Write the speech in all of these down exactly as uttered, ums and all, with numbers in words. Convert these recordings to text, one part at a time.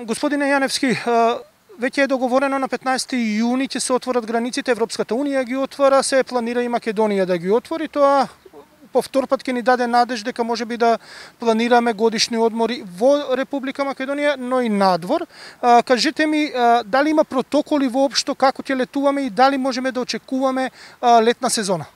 Господине Јаневски, веќе е договорено на петнаесети јуни ќе се отворат границите, Европската унија ги отвара, се планира и Македонија да ги отвори. Тоа по втор пат ќе ни даде надеж дека можеби да планираме годишни одмори во Република Македонија, но и надвор. А, кажете ми, а, дали има протоколи воопшто како ќе летуваме и дали можеме да очекуваме а, летна сезона?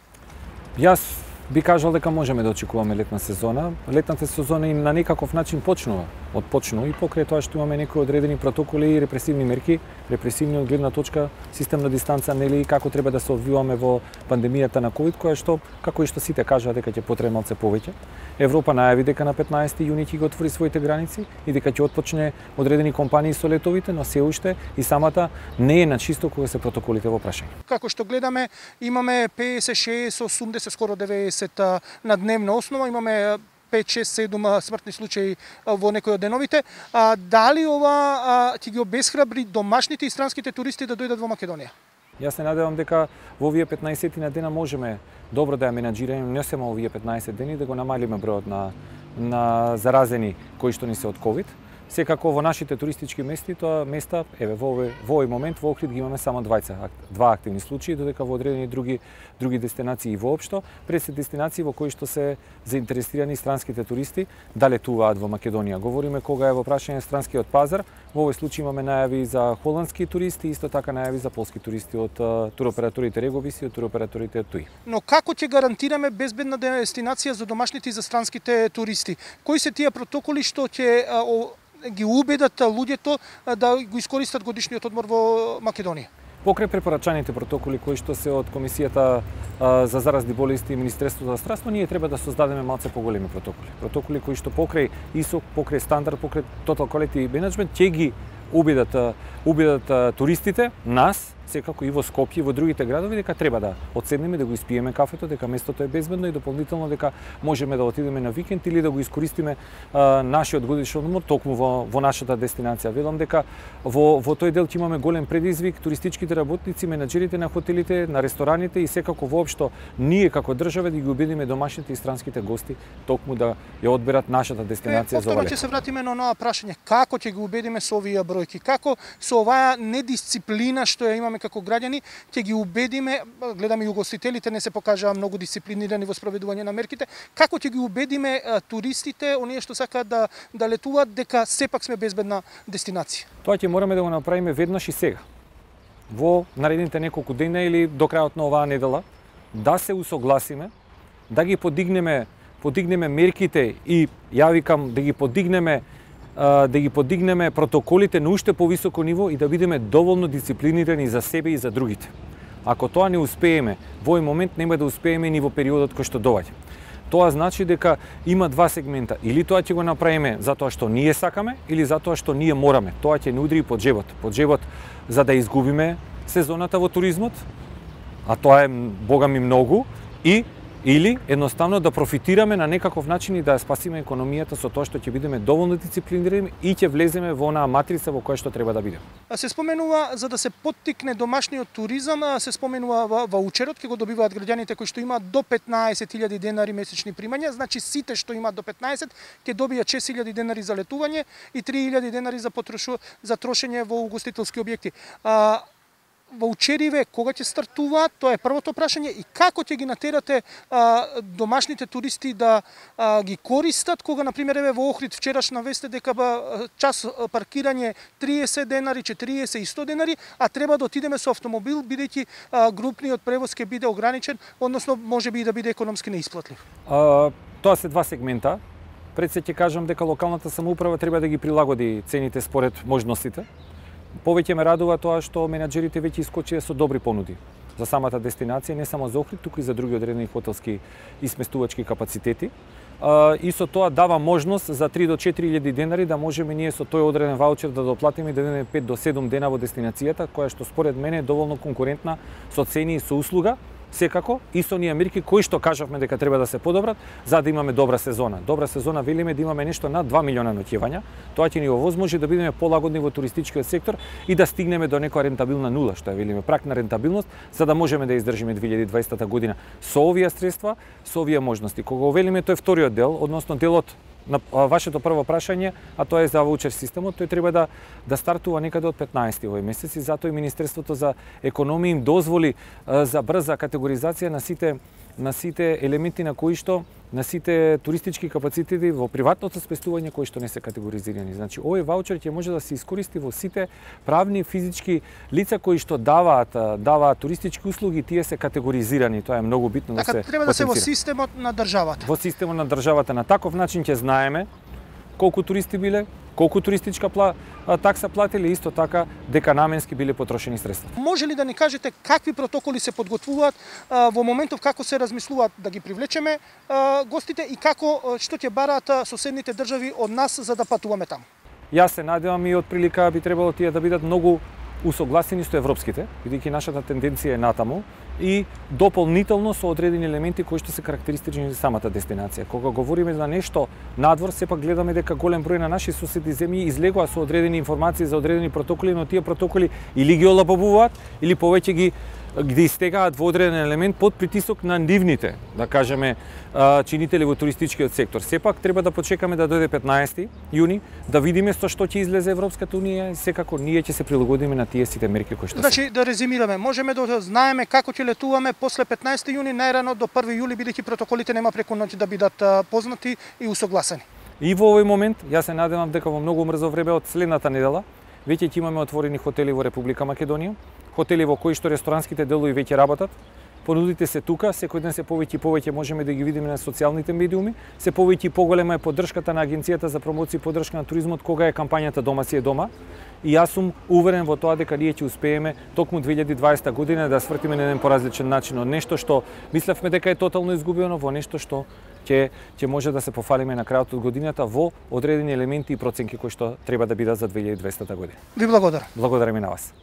Јас би кажал дека можеме да очекуваме летна сезона. Летната сезона и на некаков начин почнува. Отпочнува и покрај тоа што имаме некои одредени протоколи и репресивни мерки, репресивни од гледна точка системна дистанца, нели, како треба да се одвиваме во пандемијата на ковид, која што, како и што сите кажаа дека ќе потреба малце повеќе. Европа најави дека на петнаесети јуни ќе ги отвори своите граници и дека ќе отпочне одредени компании со летовите, но се уште и самата не е на чисто кога се протоколите во прашање. Како што гледаме, имаме педесет, шеесет, осумдесет, скоро деветдесет на дневна основа, имаме пет, шест, седум смртни случаи во некои од деновите. А, дали ова ќе ги обесхрабри домашните и странските туристи да дојдат во Македонија? Јас се надевам дека во овие петнаесет на дена можеме добро да ја менаџираме не само овие петнаесет дени, да го намалиме бројот на на заразени кои што ни се од ковид. Секако во нашите туристички мести, тоа места, еве во овој во овој момент во Охрид ги имаме само двајца, два активни случаи, додека во одредени други други дестинации воопшто, пред се дестинации во кои што се заинтересирани странските туристи да летуваат во Македонија. Говориме кога е во прашање странскиот пазар, во овој случај имаме најави за холандски туристи, исто така најави за полски туристи од туроператорите Реговис и од туроператорите Туи. Но како ќе гарантираме безбедна дестинација за домашните и за странските туристи? Кои се тие протоколи што ќе ги убедат луѓето да го искористат годишниот одмор во Македонија? Покрај препорачаните протоколи кои што се од Комисијата а, за заразни болести и Министерството за здравство, ние треба да создадеме малце поголеми протоколи. Протоколи кои што покрај ИСО, покрај стандард, покрај Total Quality Management ќе ги убедат убедат туристите, нас, секако и во Скопје и во другите градови, дека треба да одседнеме, да го испиеме кафето, дека местото е безбедно и дополнително дека можеме да отидеме на викенд или да го искористиме а, нашиот годишен одмор токму во, во нашата дестинација. Велам дека во, во тој дел ќе имаме голем предизвик, туристичките работници, менаџерите на хотелите, на рестораните и секако воопшто ние како држава да ги убедиме домашните и странските гости токму да ја одберат нашата дестинација е, за ова лето. Ќе се вратиме на онаа прашање, како ќе ги убедиме со овие бројки, како со оваа недисциплина што ја имаме како граѓани, ќе ги убедиме, гледаме и угостителите не се покажаа многу дисциплинирани во спроведување на мерките, како ќе ги убедиме а, туристите, оние што сакаат да да летуваат, дека сепак сме безбедна дестинација? Тоа ќе мораме да го направиме веднаш и сега. Во наредните неколку дена или до крајот на оваа недела, да се усогласиме, да ги подигнеме подигнеме мерките и ја викам да ги подигнеме да ги подигнеме протоколите на уште повисоко ниво и да бидеме доволно дисциплинирани за себе и за другите. Ако тоа не успееме, во овој момент нема да успееме ни во периодот кој што доаѓа. Тоа значи дека има два сегмента. Или тоа ќе го направиме затоа што ние сакаме, или затоа што ние мораме. Тоа ќе ни удри под жебот. Под жебот за да изгубиме сезоната во туризмот, а тоа е богами многу, и или едноставно да профитираме на некаков начин и да спасиме економијата со тоа што ќе бидеме доволно дисциплинирани и ќе влеземе во онаа матрица во која што треба да бидеме. Се споменува за да се поттикне домашниот туризам, се споменува ваучерот, ќе го добиваат граѓаните кои што имаат до петнаесет илјади денари месечни примања, значи сите што имаат до петнаесет ќе добијат шест илјади денари за летување и три илјади денари за потрошу за трошење во угостителски објекти. А, ваучериве кога ќе стартуваат, тоа е првото прашање, и како ќе ги натерате а, домашните туристи да а, ги користат, кога на пример еве во Охрид вчераш навесте дека ба, час паркирање триесет денари, четириесет и сто денари, а треба да отидеме со автомобил бидејќи а, групниот превоз ќе биде ограничен, односно можеби и да биде економски неисплатлив. А, тоа се два сегмента. Пред се ќе кажам дека локалната самоуправа треба да ги прилагоди цените според можностите. Повеќе ме радува тоа што менаџерите веќе искочија со добри понуди за самата дестинација, не само за Охрид, туку и за други одредени хотелски и сместувачки капацитети. И со тоа дава можност за три до четири илјади денари да можеме ние со тој одреден ваучер да доплатиме и да бидеме пет до седум дена во дестинацијата, која што според мене е доволно конкурентна со цени и со услуга. Секако, и со оние мерки кои што кажавме дека треба да се подобрат за да имаме добра сезона. Добра сезона велиме да имаме нешто над два милиона ноќевања. Тоа ќе ни овозможи да бидеме полагодни во туристичкиот сектор и да стигнеме до некоја рентабилна нула, што е велиме прак на рентабилност, за да можеме да издржиме две илјади и дваесета година со овие средства, со овие можности. Кога велиме тој вториот дел, односно делот на вашето прво прашање, а тоа е за ваучер системот, тој треба да да стартува некаде од петнаесети овој месец и затоа и Министерството за економија им дозволи за брза категоризација на сите на сите елементи на кои што на сите туристички капацитети во приватното спестување кои што не се категоризирани. Значи, овој ваучер ќе може да се искористи во сите правни физички лица кои што даваат даваат туристички услуги, тие се категоризирани. Тоа е многу битно така, да се треба да се во системот на државата. Во системот на државата на таков начин ќе знаеме колку туристи биле, колку туристичка пла, такса платили, исто така дека наменски биле потрошени средства. Може ли да ни кажете какви протоколи се подготвуваат а, во моментов како се размислуваат да ги привлечеме а, гостите и како што ќе бараат соседните држави од нас за да патуваме таму? Јас се надевам и од прилика би требало тие да бидат многу усогласени со европските, бидејќи нашата тенденција е натаму и дополнително со одредени елементи кои што се карактеристични за самата дестинација. Кога говориме за нешто надвор, сепак гледаме дека голем број на наши соседни земји излегува со одредени информации за одредени протоколи, но тие протоколи или ги олабавуваат, или повеќе ги ги истегаат во одреден елемент под притисок на нивните, да кажеме, чинители во туристичкиот сектор. Сепак треба да почекаме да дојде петнаесети јуни, да видиме со што ќе излезе Европската унија и секако ние ќе се прилагодиме на тие сите мерки кои што значи, се. Да резимираме, можеме да знаеме како ќе летуваме после петнаесети јуни, најрано до први јули, бидејќи протоколите нема преку ноќ да бидат познати и усогласени. И во овој момент, јас се надевам дека во многу брзо време од следната недела веќе ќе имаме отворени хотели во Република Македонија, хотели во кои што ресторанските делови веќе работат. Понудите се тука, секој ден се повеќе и повеќе можеме да ги видиме на социјалните медиуми, се повеќе и поголема е поддршката на Агенцијата за промоција и поддршка на туризмот кога е кампањата Дома си е дома. И јас сум уверен во тоа дека ние ќе успееме токму две илјади и дваесета година да свртиме на еден поразличен начин од нешто што мислевме дека е тотално изгубено во нешто што ќе ќе може да се пофалиме на крајот од годината во одредени елементи и проценки кои што треба да бидат за две илјади и двесета година. Ви благодарам. Благодарам и на вас.